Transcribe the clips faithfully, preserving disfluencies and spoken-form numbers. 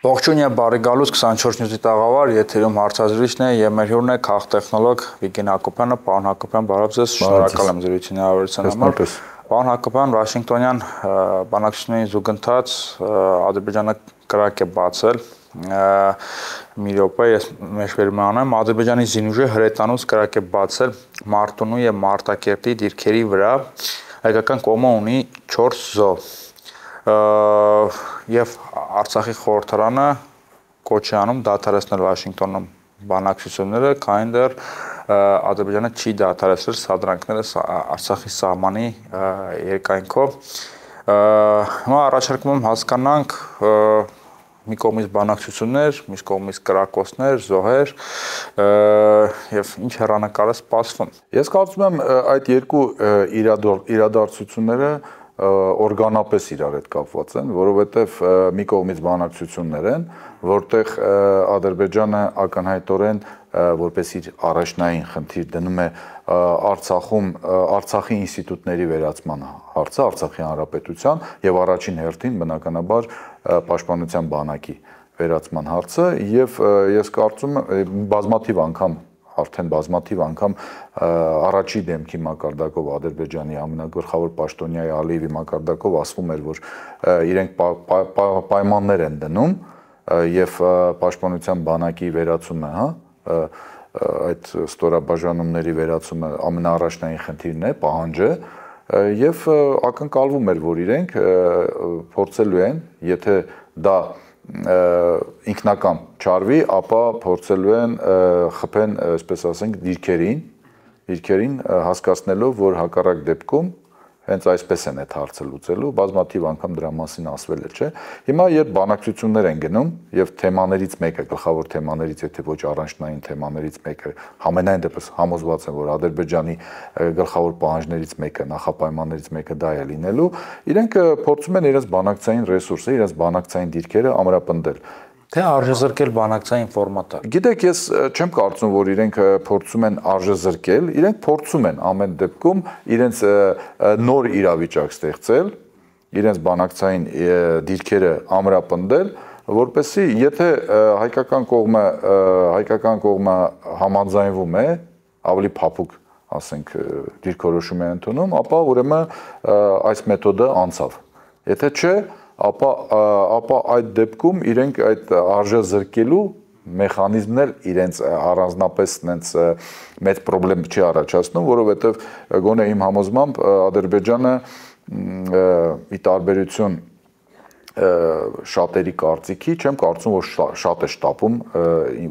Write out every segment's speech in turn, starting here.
Ողջույն եւ բարի գալուց քսանչորս նյութի տաղավար, եթերում հարցազրույցն է եւ մեր հյուրն է քաղտեխնոլոգ Վիգեն Հակոբյանը, պարոն Հակոբյան, բարև ձեզ, շնորհակալ եմ զրույցի հնարավորության համար։ Պարոն Հակոբյան, Վաշինգտոնյան բանակցությունների զուգընթաց Ադրբեջանը կրակ է բացել, մի րոպե ես մեջբերում անեմ, Ադրբեջանի զինուժը հրետանուց կրակ է բացել Մարտունու եւ Մարտակերտի դիրքերի վրա, հայկական կողմը ունի չորս զոհ։ Եվ Արցախի խորհրդարանը կոչ է անում դադարեցնել Վաշինգտոնում բանակցությունները, քանի դեռ Ադրբեջանը չի դադարեցրել սադրանքները Արցախի սահմանի երկայնքով։ Հիմա առաջարկում եմ հասկանանք մի կողմից բանակցություններ, մյուս կողմից կրակոցներ, զոհեր եւ ինչ հեռանկար է սպասվում։ Ես կարծում եմ այդ երկու իրադարձությունները օրգանապես իրար հետ կապված են, որովհետև մի կողմից բանակցություններ են, որտեղ Ադրբեջանը ակնհայտորեն որպես իր առաջնային խնդիր դնում է Արցախում Արցախի ինստիտուտների վերացման հարցը, Արցախի հանրապետության եւ առաջին հերթին բնականաբար պաշտպանության բանակի վերացման հարցը եւ ես կարծում եմ բազմաթիվ անգամ արդեն բազմաթիվ անգամ առաջի դեմքի մակարդակով Ադրբեջանի ամենագլխավոր պաշտոնյայի Ալիևի մակարդակով ասվում էր, որ իրենք պայմաններ են դնում եւ պաշտպանության բանակի վերացումը, հա, այդ ստորաբաժանումների վերացումը ամենաառաջնային խնդիրն է, պահանջը եւ ակնկալվում էր, որ իրենք փորձելու են, եթե դա ինքնական չարվի, ապա փորձելու են խփեն, այսպես ասենք, դիրքերին, դիրքերին հասկացնելով, որ հակառակ դեպքում հենց այսպես են այդ հարցը լուծելու, բազմաթիվ անգամ դրա մասին ասվել է, չէ։ Հիմա երբ բանակցություններ են գնում եւ թեմաներից մեկը, գլխավոր թեմաներից, եթե ոչ առանջնային թեմաներից մեկը, համենայն դեպս համոզված եմ, որ Ադրբեջանի գլխավոր պահանջներից մեկը, նախապայմաններից մեկը դա է լինելու, իրենք փորձում են իրենց բանակցային ռեսուրսը, իրենց բանակցային դիրքերը ամրապնդել։ Թե արժեզրկել բանակցային ֆորմատը։ Գիտեք, ես չեմ կարծում, որ իրենք փորձում են արժեզրկել, իրենք փորձում են ամեն դեպքում իրենց նոր իրավիճակ ստեղծել, իրենց բանակցային դիրքերը ամրապնդել, որպեսզի եթե հայկական կողմը հայկական կողմը համաձայնվում է, ավելի փափուկ, ասենք, դիրքորոշում է ընդունում, ապա ուրեմն այս մեթոդը անցավ։ Եթե չէ, ապա ապա այդ դեպքում իրենք այդ արժեզրկելու մեխանիզմն էլ իրենց առանձնապես նենց մեծ խնդրեմ չի առաջացնում, որովհետև գոնե իմ համոզմամբ Ադրբեջանը ի տարբերություն շատերի կարծիքի, չեմ կարծում, որ շատ է շտապում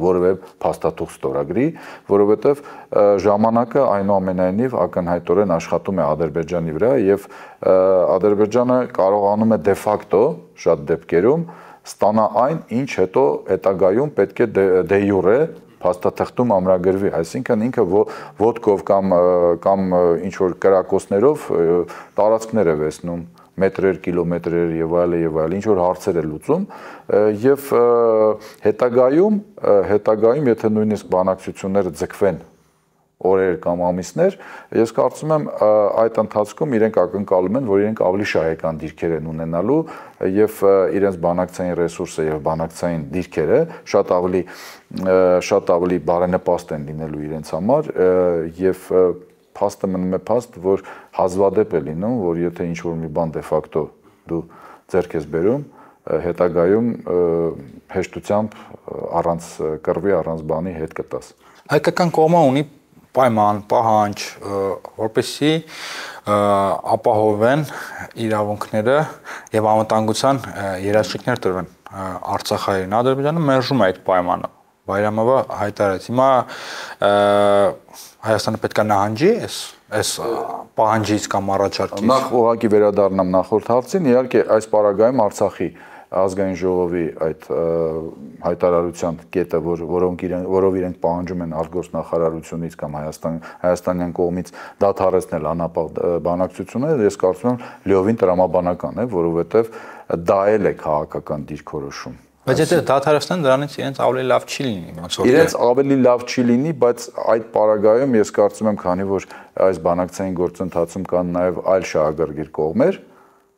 որևէ փաստաթուղթ ստորագրի, որովհետև ժամանակը այնուամենայնիվ ակնհայտորեն աշխատում է Ադրբեջանի վրա եւ Ադրբեջանը կարողանում է դե ֆակտո շատ դեպքերում ստանա այն, ինչ հետո հետագայում պետք է դե յուրե փաստաթղթում ամրագրվի, այսինքն ինքը ոտքով կամ կամ ինչ որ կրակոցներով տարածքներ է վեցնում մետրեր, կիլոմետրեր եւ այլ եւ այլ, ինչ որ հարցեր է լուծում եւ հետագայում, հետագայում եթե նույնիսկ բանակցությունները ձգվեն օրեր կամ ամիսներ, ես կարծում եմ այդ ընթացքում իրենք ակնկալում են, որ իրենք ավելի շահեկան դիրքեր են ունենալու եւ իրենց բանակցային ռեսուրսը եւ բանակցային դիրքերը շատ ավելի շատ ավելի բարենպաստ են լինելու իրենց համար եւ փաստը մնում է փաստ, որ հազվադեպ է լինում, որ եթե ինչ-որ մի բան դե ֆակտո դու ձեռք ես բերում, հետագայում հեշտությամբ առանց կռվի, առանց բանի հետ կտաս։ Հայկական կողմը ունի պայման, պահանջ, որպեսզի ապահովեն իրավունքները եւ անվտանգության երաշխիքներ տրվեն Արցախային։ Ադրբեջանը մերժում է այդ պայմանը։ Բայրամովը հայտարարեց։ Հիմա Հայաստանը պետք է նահանջի այս այս պահանջից կամ առաջարկից։ Նախ ուղղակի վերադառնամ նախորդ հարցին, իհարկե այս պարագայում Արցախի ազգային ժողովի այդ հայտարարության կետը, որ որոնք իրեն որով իրենք պահանջում են արտգործնախարարությունից կամ Հայաստան հայաստանյան կողմից դադարեցնել անապահ բանակցությունները, ես կարծում եմ լիովին տրամաբանական է, որովհետև դա էլ է քաղաքական դիրքորոշում։ Բայց եթե դադարեցնեն, դրանից իրենց ավելի լավ չի լինի, ոնց որ իրենց ավելի լավ չի լինի, բայց այդ պարագայում ես կարծում եմ, քանի որ այս բանակցային գործընթացում կան նաև այլ շահագրգիռ կողմեր,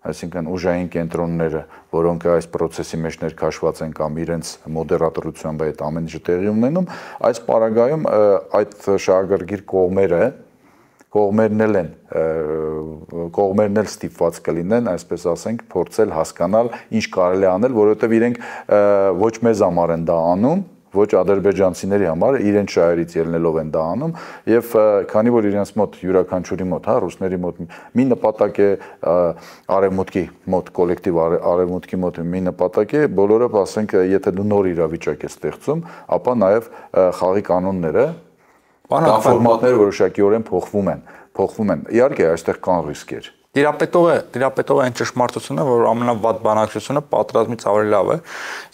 այսինքն ուժային կենտրոնները, որոնք այս process-ի մեջ ներքաշված են կամ իրենց մոդերատորությամբ այդ ամեն ինչը տեղի ունենում, այս պարագայում այդ շահագրգիռ կողմերը կողմերն էլ են կողմերն էլ ստիպված կլինեն, այսպես ասենք, փորձել հասկանալ ինչ կարելի անել, որովհետև իրենք ոչ մեզ համար են դա անում, ոչ ադրբեջանցիների համար իրենց շահերից ելնելով են դա անում եւ քանի որ իրենց մոտ յուրաքանչյուրի մոտ, հա, ռուսների մոտ մի նպատակ է արևմուտքի մոտ կոլեկտիվ արևմուտքի մոտ մի նպատակ է, բոլորը ասենք, եթե դու նոր իրավիճակ ես ստեղծում, ապա նաեւ խաղի կանոնները, ֆորմատները որոշակիորեն փոխվում են, փոխվում են։ Իհարկե, այստեղ կան ռիսկեր։ Տիրապետողը, տիրապետողը այն ճշմարտությունը, որ ամենավատ բանակցությունը պատրաստմից ավելի լավ է,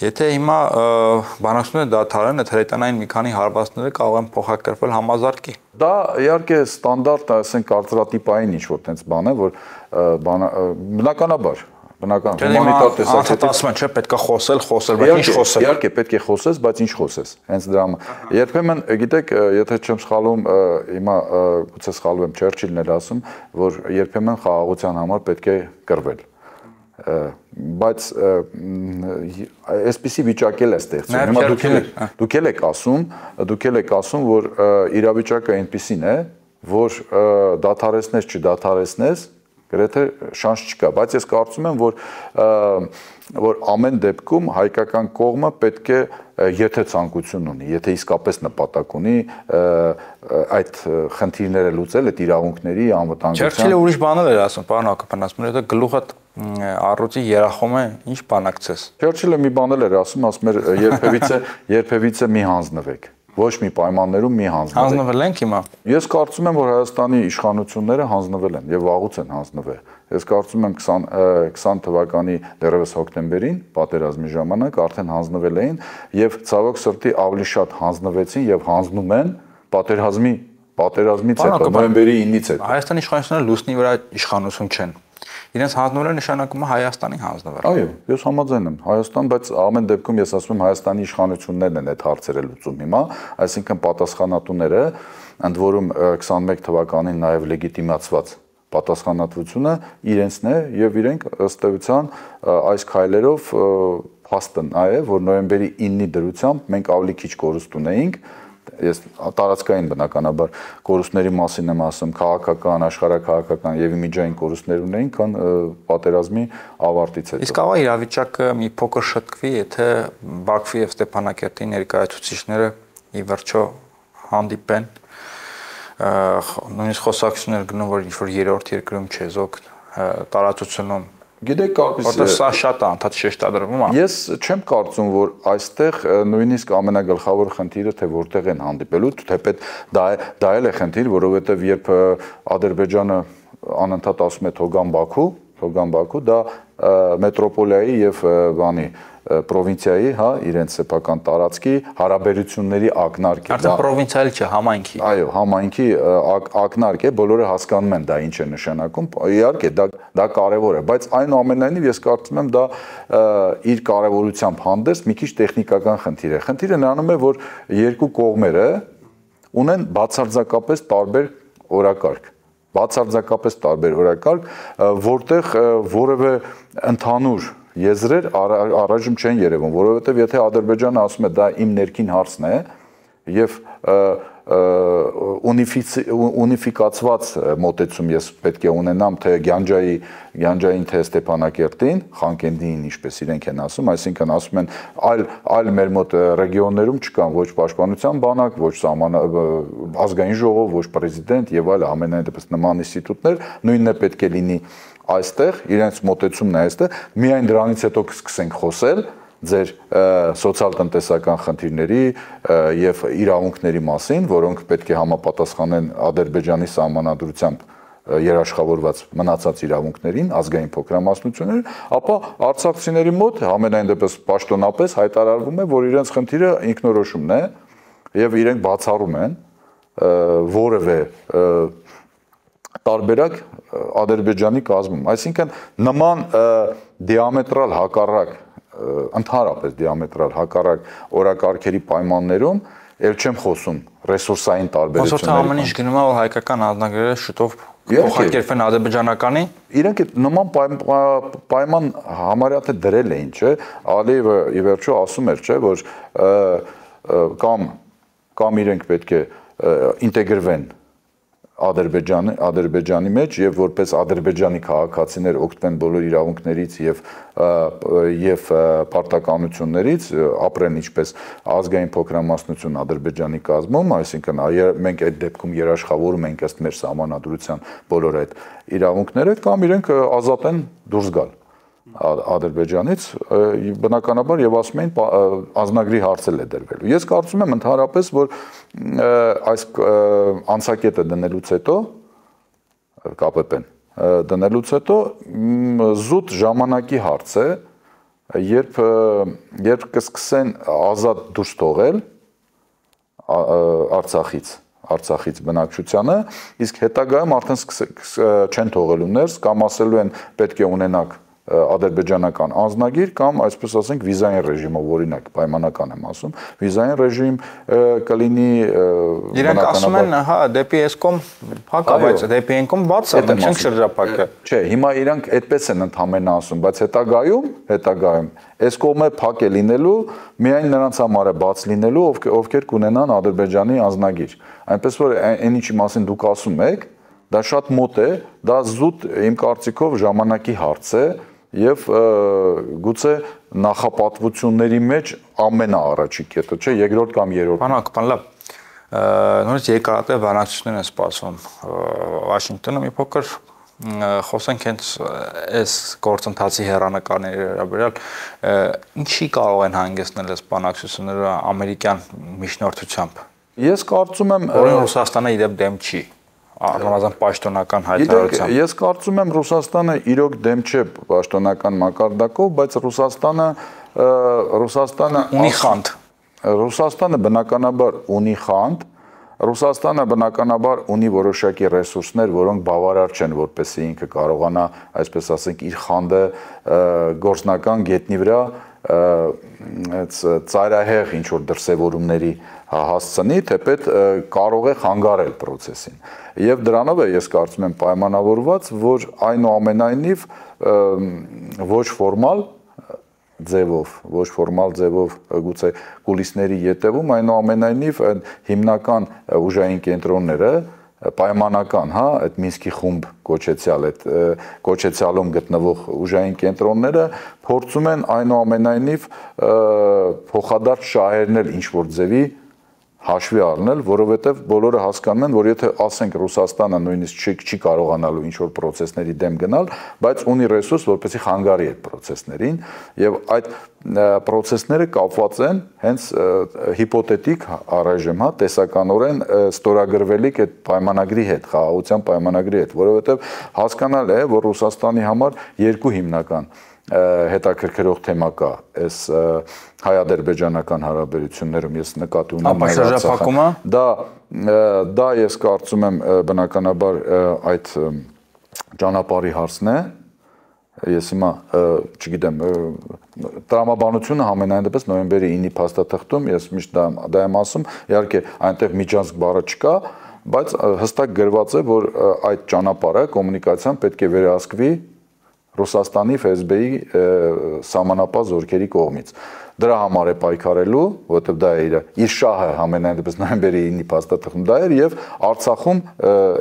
եթե հիմա բանակցությունը դադարեն, այդ հրետանային մի քանի հարվածները կարող են փոխակերպվել համազարկի։ Դա իհարկե ստանդարտ, ասենք, կարծրատիպային ինչ-որ տենց բան է, որ բնականաբար Բնական, հումանիտար տեսակետից ասում են, չէ, պետք է խոսել, խոսել, բայց ինչ խոսել։ Իհարկե, պետք է խոսես, բայց ինչ խոսես։ Հենց դրա համար։ Երբեմն, գիտեք, եթե չեմ սխալվում, հիմա գուցե սխալվում եմ, Չերչիլն էր ասում, որ երբեմն խաղաղության համար պետք է կռվել։ Բայց այսպիսի վիճակ էլ է ստեղծում։ Հիմա դուք էլ եք ասում, դուք էլ եք ասում, որ իրավիճակը այնպիսին է, որ դադարեցնես, չդադարեցնես գրեթե շանս չկա, բայց ես կարծում եմ, որ որ ամեն դեպքում հայկական կողմը պետք է, եթե ցանկություն ունի, եթե իսկապես նպատակ ունի այդ խնդիրները լուծել, այդ իրավունքների անվտանգության։ Չերչիլը ուրիշ բաներ էր ասում, պարոն Հակոբյան, ասում էր, եթե գլուխը առյուծի երախում է, ինչ բանակցես։ Չերչիլը մի բան էլ էր ասում, ասում էր, երբևիցե, երբևիցե մի հանձնվեք։ Ոչ մի պայմաններում մի հանձնվեք։ Հանձնվել ենք հիմա։ Ես կարծում եմ, որ Հայաստանի իշխանությունները հանձնվել են եւ վաղուց են հանձնվել։ Ես կարծում եմ քսան թվականի դեռևս հոկտեմբերին պատերազմի ժամանակ արդեն հանձնվել էին եւ ցավոք սրտի ավելի շատ հանձնվեցին եւ հանձնում են պատերազմի պատերազմից հետո նոյեմբերի ինից հետո։ Հայաստանի իշխանությունները լուսնի վրա իշխանություն չեն։ Իրենց հանձնվելը նշանակում է Հայաստանի հանձնվել։ Այո, ես համաձայն եմ, Հայաստան, բայց ամեն դեպքում ես ասում եմ Հայաստանի իշխանություններն են այդ հարցերը լուծում հիմա, այսինքն պատասխանատուները, ընդ որում քսանմեկ թվականին նաև լեգիտիմացված պատասխանատվությունը իրենցն է եւ իրենք ըստ էության այս քայլերով փաստն է, որ նոյեմբերի ինի դրությամբ մենք ավելի քիչ կորուստ ունեինք, ես տարածքային բնականաբար կորուստների մասին եմ ասում, քաղաքական, աշխարհաքաղաքական եւ իմիջային կորուստներ ունեին, քան պատերազմի ավարտից հետո։ Իսկ կարող է իրավիճակը մի փոքր շտկվի, եթե Բաքվի եւ Ստեփանակերտի ներկայացուցիչները ի վերջո հանդիպեն, նույնիսկ խոսակցություններ գնում, որ ինչ-որ երրորդ երկրում չեզոք տարածությունում Գիտեք, որտեղ սա շատ է անդադ շեշտադրվում է։ Ես չեմ կարծում, որ այստեղ նույնիսկ ամենագլխավոր խնդիրը թե որտեղ են հանդիպելու, թեպետ դա դա էլ է խնդիր, որովհետև երբ Ադրբեջանը անընդհատ ասում է Թոգան Բաքու, Թոգան Բաքու, դա մետրոպոլիայի եւ բանի պրովինցիայի, հա, իրենց սեփական տարածքի հարաբերությունների ակնարկ է։ Արդեն պրովինցիալ չէ, համայնքի։ Այո, համայնքի ակնարկ է, բոլորը հասկանում են դա ինչ է նշանակում։ Իհարկե, դա դա կարևոր է, բայց այնուամենայնիվ ես կարծում եմ դա իր կարևորությամբ հանդերձ մի քիչ տեխնիկական խնդիր է։ Խնդիրը նրանում է, որ երկու կողմերը ունեն բացարձակապես տարբեր օրակարգ։ Բացարձակապես տարբեր օրակարգ, որտեղ որևէ ընդհանուր եզրեր առայժմ չեն երևում, որովհետև եթե Ադրբեջանը ասում է դա իմ ներքին հարցն է եւ ունիֆիկացված մոտեցում ես պետք է ունենամ թե Գյանջայի Գյանջային թե Ստեփանակերտին, Խանկենդիին, ինչպես իրենք են ասում, այսինքն ասում են այլ այլ մեր մոտ ռեգիոններում չկան ոչ պաշտպանության բանակ, ոչ ազգային ժողով, ոչ պրեզիդենտ եւ այլ ամենայն դեպս նման ինստիտուտներ, նույնն է պետք է լինի այստեղ, իրենց մոտեցումն է այստեղ, միայն դրանից հետո կսկսենք խոսել ձեր սոցիալ-տնտեսական խնդիրների եւ իրավունքների մասին, որոնք պետք է համապատասխանեն Ադրբեջանի սահմանադրությամբ երաշխավորված մնացած իրավունքներին, ազգային փոքրամասնություններին, ապա արցախցիների մոտ ամենայն դեպս պաշտոնապես հայտարարվում է, որ իրենց խնդիրը ինքնորոշումն է եւ իրենք բացառում են որևէ տարբերակ Ադրբեջանի կազմում, այսինքն նման դիամետրալ հակառակ ընդհանրապես դիամետրալ հակառակ օրակարգերի պայմաններում ել չեմ խոսում ռեսուրսային տարբերությունների։ Ոսորթ ամեն ինչ գնում է, որ հայկական անձնագրերը շուտով փոխակերպեն ադրբեջանականի։ Իրենք այդ նման պայման համարյա թե դրել էին, չէ, Ալիևը ի վերջո ասում էր, չէ, որ կամ կամ իրենք պետք է ինտեգրվեն Ադրբեջանի Ադրբեջանի մեջ եւ որպես ադրբեջանի քաղաքացիներ օգտվեն բոլոր իրավունքներից եւ եւ պարտականություններից, ապրեն ինչպես ազգային փոքրամասնություն Ադրբեջանի կազմում, այսինքն մենք այդ դեպքում երաշխավորում ենք ըստ մեր սահմանադրության բոլոր այդ իրավունքները, կամ իրենք ազատ են դուրս գալ Ադրբեջանից, բնականաբար եւ ասում էին ազնագրի հարցել է դրվելու։ Ես կարծում եմ ընդհանրապես, որ այս անցակետը դնելուց հետո ԿՊՊ-ն դնելուց հետո զուտ ժամանակի հարց է, երբ երբ կսկսեն ազատ դուրս թողել Արցախից Արցախից բնակչությանը, իսկ հետագայում արդեն չեն թողելու ներս, կամ ասելու են պետք է ունենաք ադրբեջանական անձնագիր կամ այսպես ասենք վիզային ռեժիմով, օրինակ պայմանական եմ ասում, վիզային ռեժիմ կլինի Իրանք ասում են, հա, դեպի էսկոմ փակ է, բայց դեպի էնկոմ բաց է, չենք շրջափակը։ Չէ, հիմա իրանք այդպես են ընդհանրապես ասում, բայց հետագայում, հետագայում էսկոմը փակ է լինելու, միայն նրանց համար է բաց լինելու, ովքեր կունենան Ադրբեջանի անձնագիր։ Այնպես որ այն ինչի մասին դուք ասում եք, դա շատ մոտ է, դա զուտ իմ կարծիքով ժամանակի հարց է եւ գուցե նախապատվությունների մեջ ամենաառաջի կետը, չէ, երկրորդ կամ երրորդ։ Պարոն Հակոբյան, լավ։ Նորից երկարատև բանակցություններ են սպասվում Վաշինգտոնում, մի փոքր խոսենք հենց այս գործընթացի հեռանկարների վերաբերյալ, ինչի կարող են հանգեցնել այս բանակցությունները ամերիկյան միջնորդությամբ։ Ես կարծում եմ, որ Ռուսաստանը իդեպ դեմ չի։ Առնվազն պաշտոնական հայտարարությամբ։ Ես կարծում եմ Ռուսաստանը իրոք դեմ չէ պաշտոնական մակարդակով, բայց Ռուսաստանը Ռուսաստանը ունի խանդ։ Ռուսաստանը բնականաբար ունի խանդ, Ռուսաստանը բնականաբար ունի որոշակի ռեսուրսներ, որոնք բավարար չեն, որպեսզի ինքը կարողանա, այսպես ասենք, իր խանդը գործնական գետնի վրա ծայրահեղ ինչ որ դրսևորումների հասցնի, թեպետ կարող է խանգարել process-ին։ Եվ դրանով է ես կարծում եմ պայմանավորված, որ այնուամենայնիվ ոչ ֆորմալ ձևով, ոչ ֆորմալ ձևով գուցե կուլիսների ետևում, այնուամենայնիվ հիմնական ուժային կենտրոնները պայմանական, հա, այդ Մինսկի խումբ կոչեցյալ, այդ կոչեցյալում գտնվող ուժային կենտրոնները փորձում են այնուամենայնիվ փոխադարձ շահերնել ինչ որ ձևի հաշվի առնել, որովհետև բոլորը հասկանում են, որ եթե ասենք Ռուսաստանը նույնիսկ չի, չի կարողանալու ինչ որ process-ների դեմ գնալ, բայց ունի ռեսուրս, որպեսզի խանգարի այդ process-ներին, եւ այդ process-ները կապված են հենց հիպոթետիկ առայժմ, հա, տեսականորեն ստորագրվելիք այդ պայմանագրի հետ, խաղաղության պայմանագրի հետ, որովհետև հասկանալ է, որ Ռուսաստանի համար երկու հիմնական հետաքրքրող թեմա կա այս հայ-ադրբեջանական հարաբերություններում, ես նկատի ունեմ Շրջափակումը, դա դա ես կարծում եմ բնականաբար այդ ճանապարհի հարցն է, ես հիմա չգիտեմ, տրամաբանությունը համենայն դեպս նոյեմբերի ինի փաստաթղթում ես միշտ դա, դա եմ ասում, իհարկե այնտեղ միջանցք բառը չկա, բայց հստակ գրված է, որ այդ ճանապարհը կոմունիկացիան պետք է վերահսկվի Ռուսաստանի эф эс бэ-ի սահմանապահ զորքերի կողմից։ Դրա համար է պայքարելու, որովհետև դա է իր իր շահը համենայն դեպս նոյեմբերի ինի փաստաթղթում դա էր եւ Արցախում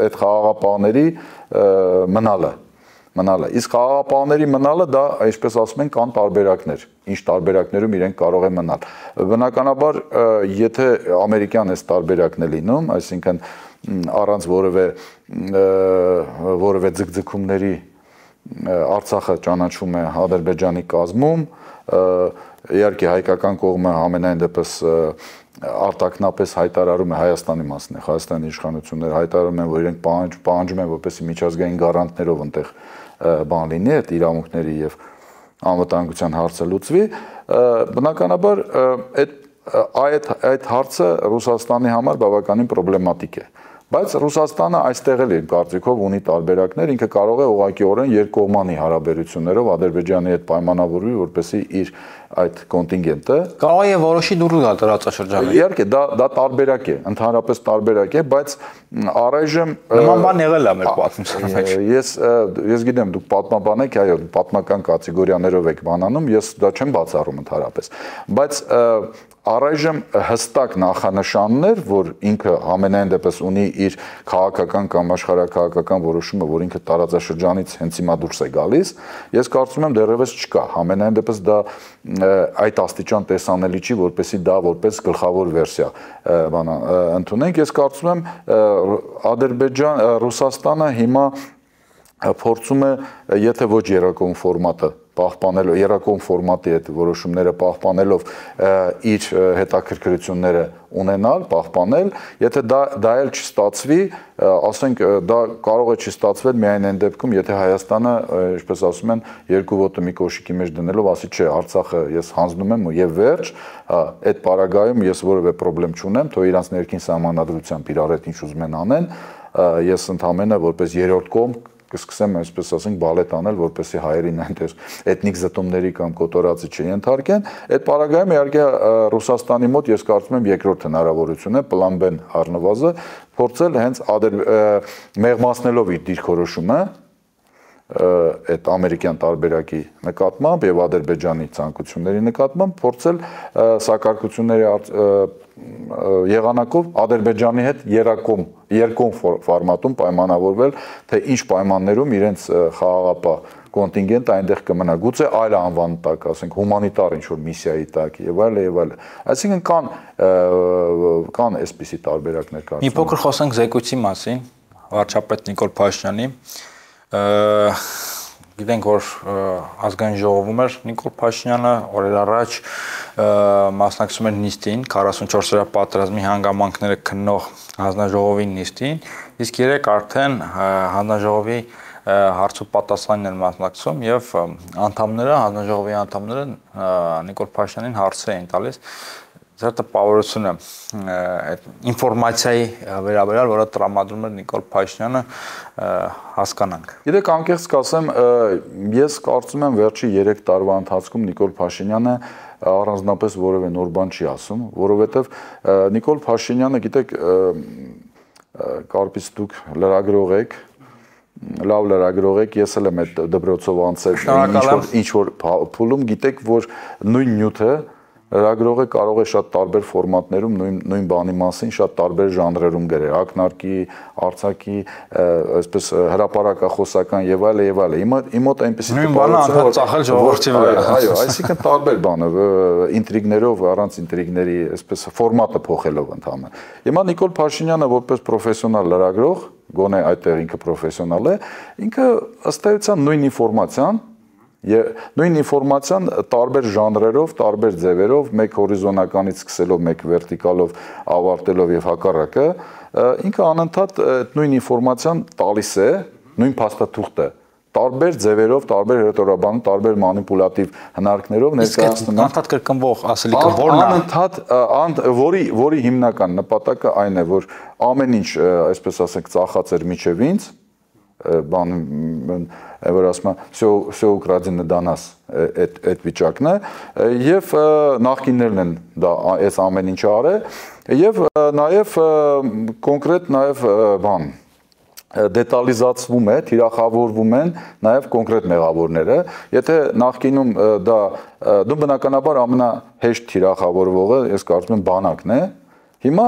այդ խաղաղապահների մնալը մնալը։ Իսկ խաղաղապահների մնալը դա, այսպես ասում են, կան տարբերակներ, ինչ տարբերակներում իրենք կարող են մնալ։ Բնականաբար, եթե ամերիկյան այս տարբերակն է լինում, այսինքն առանց որևէ որևէ ձգձգումների Արցախը ճանաչվում է Ադրբեջանի կազմում, իհարկե հայկական կողմը ամենայն դեպս արտակնապես հայտարարում է Հայաստանի մասն է, Հայաստանի իշխանությունները հայտարարում են, որ իրենք պահանջ, պահանջում են, որպեսզի միջազգային գարանտներով այնտեղ բան լինի, այդ իրավունքների եւ անվտանգության հարցը լուծվի, բնականաբար այդ այդ այդ հարցը Ռուսաստանի համար բավականին պրոբլեմատիկ է, Բայց Ռուսաստանը այստեղ էլ իր կարծիքով ունի տարբերակներ, ինքը կարող է ուղղակիորեն երկկողմանի հարաբերություններով Ադրբեջանի հետ պայմանավորվի, որպեսզի իր այդ կոնտինգենտը կարող է որոշի դուրս գալ տարածաշրջանից։ Իհարկե, դա դա տարբերակ է, ընդհանրապես տարբերակ է, բայց առայժմ նման բան եղել է մեր պատմության մեջ։ Ես ես գիտեմ, դուք պատմաբան եք, այո, պատմական կատեգորիաներով եք բանանում, ես դա չեմ բացառում ընդհանրապես, բայց առայժմ հստակ նախանշաններ, որ ինքը ամենայն դեպս ունի իր քաղաքական կամ աշխարհակաղակական որոշումը, որ ինքը տարածաշրջանից հենց հիմա դուրս է գալիս, ես կարծում եմ դեռևս չկա։ Ամենայն դեպս դա այդ աստիճան տեսանելի չի, որպեսզի դա որպես գլխավոր վերսիա բանա ընդունենք։ Ես կարծում եմ Ադրբեջան, Ռուսաստանը հիմա փորձում է, եթե ոչ երակոմ ֆորմատը պահպանելով, երակոմ ֆորմատի այդ որոշումները պահպանելով իր հետաքրքրությունները ունենալ, պահպանել, եթե դա դա էլ չստացվի, ասենք դա կարող է չստացվել միայն այն դեպքում, եթե Հայաստանը, ինչպես ասում են, երկու ոտը մի կոշիկի մեջ դնելով ասի, չէ, Արցախը ես հանձնում եմ եւ վերջ, այդ պարագայում ես որևէ խնդրեմ չունեմ, թող իրանց ներքին սահմանադրությամբ իրար հետ ինչ ուզում են անեն, ես ընդհանրապես որպես երրորդ կողմ կսկսեմ այսպես ասենք բալետ անել, որպեսզի հայերին այնտեղ էթնիկ զտումների կամ կոտորածի չենթարկեն։ Այդ պարագայում իհարկե Ռուսաստանի մոտ ես կարծում եմ երկրորդ հնարավորություն է պլան B-ն առնվազը փորձել հենց մեղմացնելով իր դիրքորոշումը այդ ամերիկյան տարբերակի նկատմամբ եւ Ադրբեջանի ցանկությունների նկատմամբ փորձել սակարկությունների եղանակով Ադրբեջանի հետ երակոմ երկկողմ ֆորմատում պայմանավորվել, թե ինչ պայմաններում իրենց խաղաղապահ կոնտինգենտը այնտեղ կմնա, գուցե այլ անվան տակ, ասենք հումանիտար ինչ-որ միսիայի տակ եւ այլ եւ այլ։ Այսինքն կան կան այսպիսի տարբերակներ կարծում եմ։ Մի փոքր խոսենք զեկույցի մասին, վարչապետ Նիկոլ Փաշինյանի Գիտենք, որ ազգային ժողովում էր Նիկոլ Փաշինյանը, օրեր առաջ մասնակցում էր նիստին, քառասունչորսերորդ պատերազմի հանգամանքները քննող հանձնաժողովի նիստին, իսկ երեք արդեն հանձնաժողովի հարց ու պատասխանն են մասնակցում եւ անդամները, հանձնաժողովի անդամները Նիկոլ Փաշինյանին հարցեր էին տալիս Ձեր տպավորությունը այդ ինֆորմացիայի վերաբերյալ, որը տրամադրում էր Նիկոլ Փաշինյանը, հասկանանք։ Գիտեք, անկեղծ կասեմ, ես կարծում եմ վերջի երեք տարվա ընթացքում Նիկոլ Փաշինյանը առանձնապես որևէ նոր բան չի ասում, որովհետև Նիկոլ Փաշինյանը, գիտեք, կարծես դուք լրագրող եք, լավ լրագրող եք, ես էլ եմ այդ դպրոցով անցել ինչ որ փուլում, գիտեք, որ նույն նյութը լրագրողը կարող է շատ տարբեր ֆորմատներում նույն նույն բանի մասին շատ տարբեր ժանրերում գրել, ակնարկի, արձակի, այսպես հրապարակախոսական եւ այլ եւ այլ։ Հիմա իմոտ այնպեսի նույն բանը անդադ ծախել ժողովրդի վրա։ Այո, այսինքն տարբեր բանը, ինտրիգներով, առանց ինտրիգների, այսպես ֆորմատը փոխելով ընդհանրապես։ Հիմա Նիկոլ Փաշինյանը որպես պրոֆեսիոնալ լրագրող, գոնե այդտեղ ինքը պրոֆեսիոնալ է, ինքը ըստ էության նույն ինֆորմացիան նույն ինֆորմացիան տարբեր ժանրերով, տարբեր ձևերով, մեկ հորիզոնականից սկսելով, մեկ վերտիկալով ավարտելով եւ հակառակը, ինքը անընդհատ նույն ինֆորմացիան տալիս է, նույն փաստաթուղթը, տարբեր ձևերով, տարբեր հերետորաբանում, տարբեր մանիպուլատիվ հնարքներով ներկայացնում։ Անընդհատ կրկնվող ասելիքը ո՞րն է։ Անընդհատ, որի որի հիմնական նպատակը այն է, որ ամեն ինչ, այսպես ասենք, ծախած էր միջև ինձ, բան որ ասում եմ всё всё украдено до нас այդ այդ վիճակն է եւ նախկիններն են դա այս ամեն ինչը արել եւ նաեւ կոնկրետ նաեւ բան դետալիզացվում է, թիրախավորվում են նաև կոնկրետ մեղավորները, եթե նախկինում դա դու բնականաբար ամենահեշտ թիրախավորվողը, ես կարծում եմ բանակն է, հիմա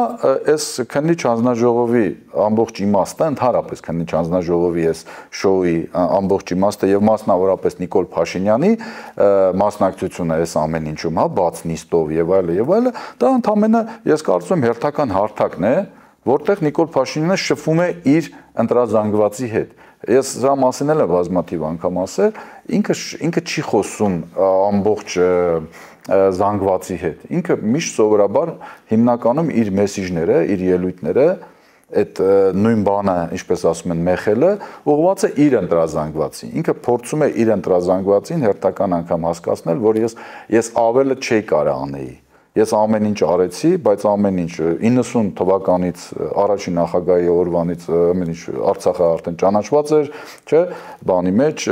այս քննիչ հանձնաժողովի ամբողջ իմաստը, ընդհանրապես քննիչ հանձնաժողովի այս շոուի ամբողջ իմաստը եւ մասնավորապես Նիկոլ Փաշինյանի մասնակցությունը այս ամեն ինչում, հա, բաց նիստով եւ այլը եւ այլը, դա ընդհանրապես ես կարծում եմ հերթական հարթակն է, որտեղ Նիկոլ Փաշինյանը շփվում է իր ընտրազանգվածի հետ։ Ես սա մասին էլ եմ բազմաթիվ անգամ ասել, ինքը ինքը չի խոսում ամբողջ զանգվածի հետ։ Ինքը միշտ սովորաբար հիմնականում իր մեսիջները, իր ելույթները, այդ նույն բանը, ինչպես ասում են, մեխելը, ուղղված է իր ընտրազանգվածին։ Ինքը փորձում է իր ընտրազանգվածին հերթական անգամ հասկացնել, որ ես ես ավելը չի կարող անեի։ ես ամեն ինչ արեցի, բայց ամեն ինչ իննսուն թվականից առաջին նախագահի օրվանից ամեն ինչ Արցախը արդեն ճանաչված էր, չէ, բանի մեջ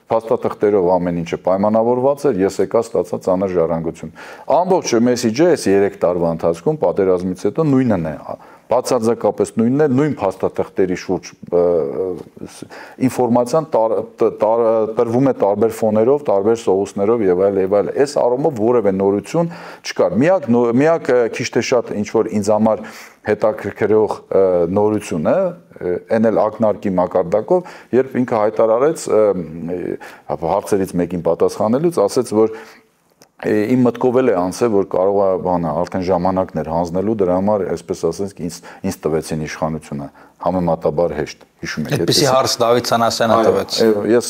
փաստաթղթերով ամեն ինչը պայմանավորված էր, ես եկա ստացա ծանր ժառանգություն։ Ամբողջ մեսիջը այս երեք տարվա ընթացքում պատերազմից հետո նույնն է, բացարձակապես նույնն է, նույն փաստաթղթերի շուրջ ինֆորմացիան տրվում է տարբեր ֆոներով, տարբեր սովուսներով եւ այլ եւ այլ։ Այս առումով որևէ նորություն չկար։ Միակ միակ քիչ թե շատ ինչ որ ինձ համար հետաքրքրող նորությունը այն էլ ակնարկի մակարդակով, երբ ինքը հայտարարեց հարցերից մեկին պատասխանելուց, ասեց, որ իմ մտքով էլ է անցել, որ կարող է բանը արդեն ժամանակներ հանձնելու դրա համար, այսպես ասենք, ինձ ինձ տվեցին իշխանությունը, համեմատաբար հեշտ, հիշում եք։ Այդպիսի հարց Դավիթ Սանասյանը տվեց։ Ես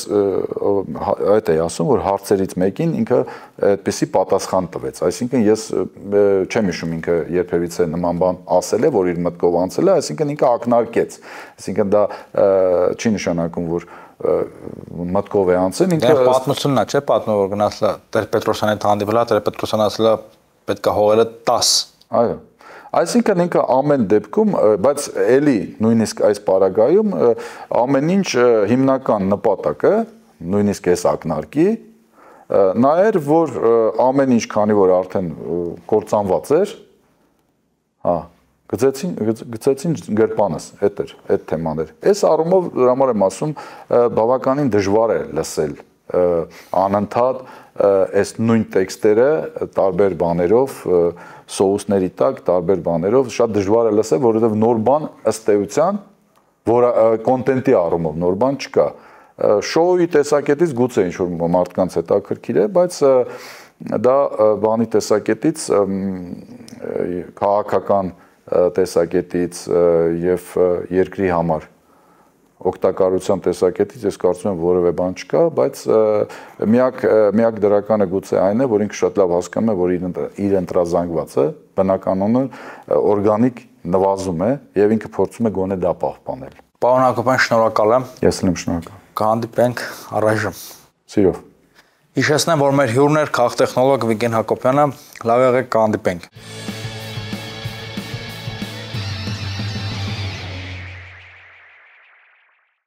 այդ էի ասում, որ հարցերից մեկին ինքը այդպիսի պատասխան տվեց, այսինքն ես չեմ հիշում ինքը երբևիցե նման բան ասել է, որ իր մտքով անցել է, այսինքն ինքը ակնարկեց, այսինքն դա չի նշանակում, որ մտքով է անցել, ինքը պատմությունն է, չէ՞, պատմում որ գնացել Տեր-Պետրոսյանի հետ հանդիպելա, Տեր-Պետրոսյանը ասել է պետք է հողերը տաս։ Այո։ Այսինքն ինքը ամեն դեպքում, բայց էլի նույնիսկ այս պարագայում ամեն ինչ հիմնական նպատակը, նույնիսկ այս ակնարկի, նա էր, որ ամեն ինչ, քանի որ արդեն կործանված էր, հա, գծեցին գծեցին գրպանս, այդ էր, այդ թեման էր։ Այս առումով դրա համար եմ ասում, բավականին դժվար է լսել անընդհատ այս նույն տեքստերը տարբեր բաներով, սոուսների տակ, տարբեր բաներով, շատ դժվար է լսել, որովհետև նոր բան ըստ էության, որ կոնտենտի առումով նոր բան չկա։ Շոուի տեսակետից գուցե ինչ որ մարդկանց հետաքրքիր է, բայց դա բանի տեսակետից քաղաքական տեսակետից եւ երկրի համար օգտակարության տեսակետից ես կարծում եմ որևէ բան չկա, բայց միակ միակ դրականը գուցե այն է, որ ինքը շատ լավ հասկանում է, որ իր ընտրազանգվածը բնականոնը օրգանիկ նվազում է եւ ինքը փորձում է գոնե դա պահպանել։ Պարոն Հակոբյան, շնորհակալ եմ։ Ես եմ շնորհակալ։ Կհանդիպենք առայժմ։ Սիրով։ Հիշեցնեմ, որ մեր հյուրն էր քաղաքտեխնոլոգ Վիգեն Հակոբյանը, լավ եղեք, կհանդիպենք։